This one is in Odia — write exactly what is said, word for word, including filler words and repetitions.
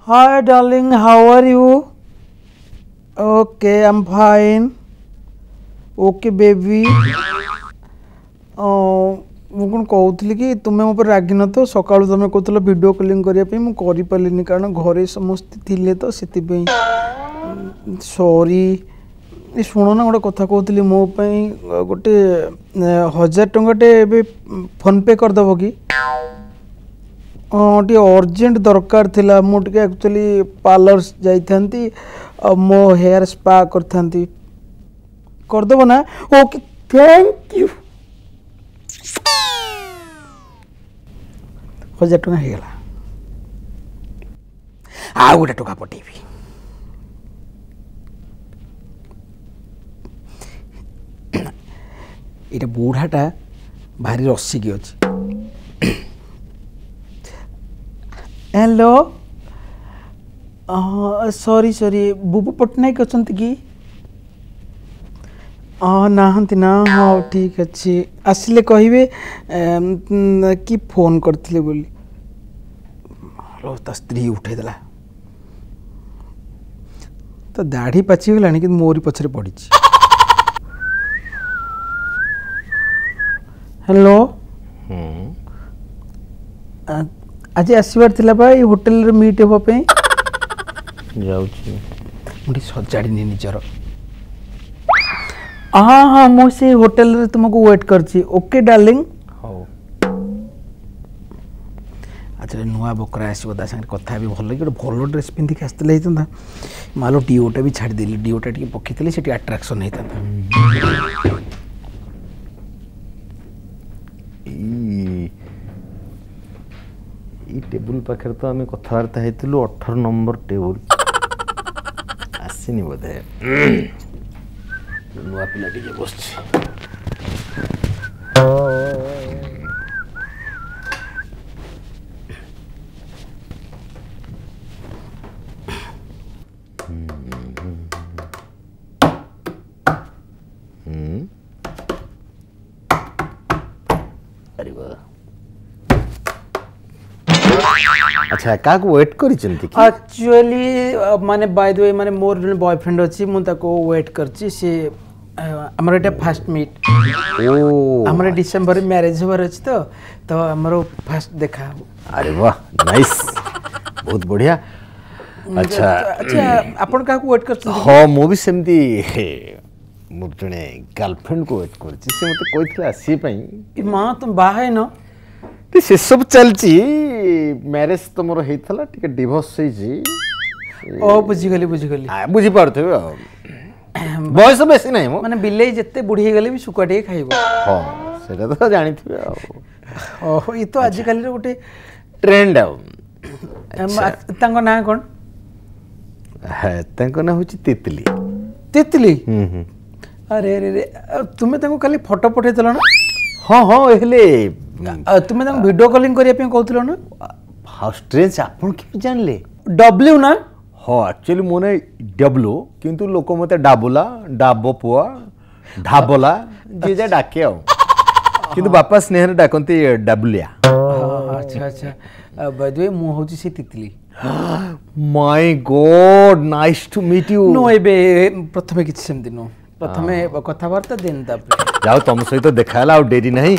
Hi darling, how are you? Okay, I'm fine. Okay baby. ମୁଁ କ'ଣ କହୁଥିଲି କି ତୁମେ ମୋ ଉପରେ ରାଗିନ ତ? ସକାଳୁ ତୁମେ କହୁଥିଲ ଭିଡ଼ିଓ କଲିଂ କରିବା ପାଇଁ, ମୁଁ କରିପାରିଲିନି କାରଣ ଘରେ ସମସ୍ତେ ଥିଲେ ତ ସେଥିପାଇଁ ସରି। ଏ ଶୁଣ ନା, ଗୋଟେ କଥା କହୁଥିଲି, ମୋ ପାଇଁ ଗୋଟେ ହଜାର ଟଙ୍କାଟେ ଏବେ ଫୋନ୍ପେ କରିଦେବ କି? ହଁ, ଟିକେ ଅର୍ଜେଣ୍ଟ ଦରକାର ଥିଲା। ମୁଁ ଟିକେ ଆକ୍ଚୁଆଲି ପାର୍ଲର ଯାଇଥାନ୍ତି ଆଉ ମୋ ହେୟାର ସ୍ପା କରିଥାନ୍ତି। କରିଦେବ ନା? Okay, thank you. ହଜାର ଟଙ୍କା ହେଇଗଲା, ଆଉ ଗୋଟେ ଟଙ୍କା ପଠେଇବି। ଏଇଟା ବୁଢ଼ାଟା ଭାରି ରସିକି ଅଛି। ହ୍ୟାଲୋ, ସରି ସରି, ବୁବୁ ପଟ୍ଟନାୟକ ଅଛନ୍ତି କି? ହଁ, ନାହାନ୍ତି ନା? ହଉ ଠିକ୍ ଅଛି, ଆସିଲେ କହିବେ କି ଫୋନ୍ କରିଥିଲେ ବୋଲି। ତା ସ୍ତ୍ରୀ ଉଠେଇଦେଲା। ତା ଦାଢ଼ି ପାଚିଗଲାଣି କିନ୍ତୁ ମୋରି ପଛରେ ପଡ଼ିଛି। ହ୍ୟାଲୋ, ଆଜି ଆସିବାର ଥିଲା ବା ଏଇ ହୋଟେଲରେ ମିଟ୍ ହେବା ପାଇଁ। ଯାଉଛି, ମୁଁ ଟିକେ ସଜାଡ଼ିନି ନିଜର। ହଁ ହଁ, ମୁଁ ସେଇ ହୋଟେଲରେ ତୁମକୁ ୱେଟ୍ କରିଛି। Okay darling. ହଉ। ଆଚ୍ଛା, ନୂଆ ବକରା ଆସିବ, ତା ସାଙ୍ଗରେ କଥା ହେବି ଭଲ କି। ଗୋଟେ ଭଲ ଡ୍ରେସ୍ ପିନ୍ଧିକି ଆସିଥିଲେ ହେଇଥାନ୍ତା। ମାଲୋ, ଡିଓଟା ବି ଛାଡ଼ିଦେଲି, ଡିଓଟା ଟିକେ ପକେଇଥିଲେ ସେଠି ଆଟ୍ରାକ୍ସନ୍ ହେଇଥାନ୍ତା। ଏଇ ଟେବୁଲ ପାଖରେ ତ ଆମେ କଥାବାର୍ତ୍ତା ହେଇଥିଲୁ, ଅଠର ନମ୍ବର ଟେବୁଲ। ଆସିନି ବୋଧେ। ନୂଆ ପିଲା ଟିକେ ବସିଛି। ଆଚ୍ଛା, କାହାକୁ ୱେଟ୍ କରିଛନ୍ତି କି? ଆକ୍ଚୁଆଲି ମାନେ ବାଇ ଦ we, ମାନେ ମୋର ଜଣେ ବୟଫ୍ରେଣ୍ଡ ଅଛି, ମୁଁ ତାକୁ ୱେଟ୍ କରିଛି। ସେ ଆମର ଏଇଟା ଫାଷ୍ଟ ମିଟ୍। ଆମର ଡିସେମ୍ବରରେ ମ୍ୟାରେଜ୍ ହେବାର ଅଛି ତ, ତ ଆମର ଫାଷ୍ଟ ଦେଖା ହବ। ଆରେ ବାহ, ନାଇସ୍, ବହୁତ ବଢ଼ିଆ। ଆଚ୍ଛା ଆଚ୍ଛା, ଆପଣ କାହାକୁ ୱେଟ୍ କରିଛନ୍ତି? ହଁ, ମୁଁ ବି ସେମିତି ମୋର ଜଣେ ଗାର୍ଲଫ୍ରେଣ୍ଡକୁ ୱେଟ୍ କରିଛି। ସେ ମୋତେ କହିଥିଲା ଆସିବା ପାଇଁ। ମା, ତୁମେ ବାହା ହେଇନ? ସେସବୁ ଚାଲିଛି। ମ୍ୟାରେଜ ତ ମୋର ହେଇଥିଲା, ଟିକେ ଡିଭୋର୍ସ ହେଇଛି। ଓ, ବୁଝିଗଲି ବୁଝିଗଲି। ବୁଝିପାରୁଥିବେ। ଆଉ ବୟସ ବେଶୀ ନାହିଁ। ମାନେ ବିଲେଇ ଯେତେ ବୁଢ଼ୀ ହେଇଗଲେ ବି ଶୁଖୁଆ ଟିକେ ଖାଇବ। ହଁ, ସେଇଟା ତ ଜାଣିଥିବେ। ଆଉ ଓହୋ, ଇଏ ତ ଆଜିକାଲିର ଗୋଟେ ଟ୍ରେଣ୍ଡ। ଆଉ ତାଙ୍କ ନାଁ କ'ଣ? ତାଙ୍କ ନାଁ ହେଉଛି ତିତଲି। ତିତଲି? ଆରେ ଆରେ, ତୁମେ ତାଙ୍କୁ କାଲି ଫଟୋ ପଠେଇଥିଲ ନା? ହଁ ହଁ, ହେଲେ ତୁମେ ତାଙ୍କୁ ଭିଡ଼ିଓ କଲିଂ କରିବା ପାଇଁ କହୁଥିଲ ନା? ହାଉ ଷ୍ଟ୍ରେଞ୍ଜ, ଆପଣ କେମିତି ଜାଣିଲେ? ଡବ୍ଲ୍ୟୁ ନା? ହଁ, ଆକ୍ଚୁଆଲି ମୋ ନାଁ ଡବ୍ଲୁ, କିନ୍ତୁ ଲୋକ ମୋତେ ଡାବୁଲା, ଡାବ ପୁଅ, ଢାବଲା, ଯିଏ ଯାହା ଡାକେ। ଆଉ କିନ୍ତୁ ବାପା ସ୍ନେହରେ ଡାକନ୍ତି ଡାବୁଲିଆ। ଆଚ୍ଛା ଆଚ୍ଛା, ବାଇ ଦ we ମୁଁ ହେଉଛି ସେ Titli. My God, nice to meet you. No, ଏବେ ପ୍ରଥମେ କିଛି ସେମିତି ନୁହଁ, ପ୍ରଥମେ କଥାବାର୍ତ୍ତା ଦେନ୍ ତାପରେ। ଯାଉ, ତମ ସହିତ ଦେଖା ହେଲା, ଆଉ ଡେରି ନାହିଁ।